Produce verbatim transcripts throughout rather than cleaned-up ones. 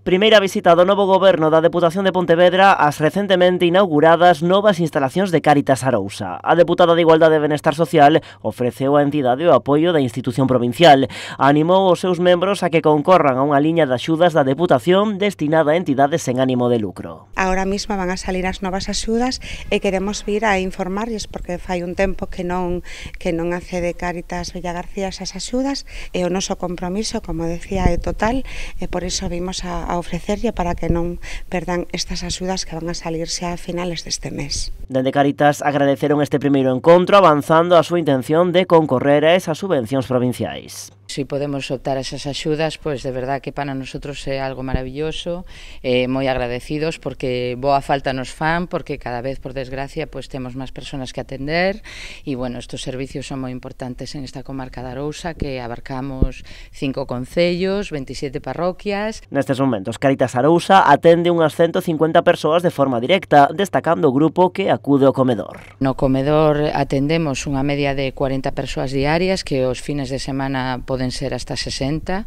Primeira visita do novo goberno da Deputación de Pontevedra ás recentemente inauguradas novas instalacións de Cáritas Arousa. A deputada de Igualdade e Benestar Social ofreceu á entidade o apoio da institución provincial. Animou os seus membros a que concorran a unha liña de axudas da Deputación destinada a entidades sen ánimo de lucro. Agora mesmo van a salir as novas axudas e queremos vir a informarlles porque fai un tempo que non que non accede Cáritas Villagarcía esas axudas e o noso compromiso, como decía, é total e por iso vimos a a ofrecerlle para que non perdan estas axudas que van a salir xa a finales deste mes. Dende Cáritas agradeceron este primeiro encontro avanzando a súa intención de concorrer a esas subvencións provinciais. Si podemos optar a esas axudas, pois de verdad que para nosotros é algo maravilloso, eh, moi agradecidos porque boa falta nos fan, porque cada vez, por desgracia, pois temos máis persoas que atender e, bueno, estos servicios son moi importantes en esta comarca de Arousa, que abarcamos cinco concellos, veintisiete parroquias. Nestes momentos, Cáritas Arousa atende unhas ciento cincuenta persoas de forma directa, destacando o grupo que acude ao comedor. No comedor atendemos unha media de cuarenta persoas diarias, que os fines de semana poden ser hasta sesenta.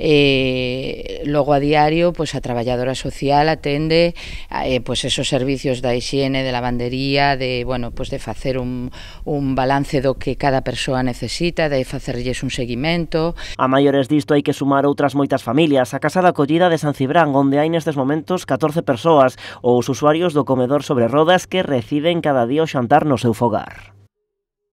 Eh, logo a diario, pois a traballadora social atende eh, pois esos servicios da hixiene, de lavandería, de, bueno, pois de facer un, un balance do que cada persoa necesita, de facerlles un seguimento. A maiores disto hai que sumar outras moitas familias. A Casa da Acollida de San Cibrán, onde hai nestes momentos catorce persoas, ou os usuarios do comedor sobre rodas que reciben cada día o xantar no seu fogar.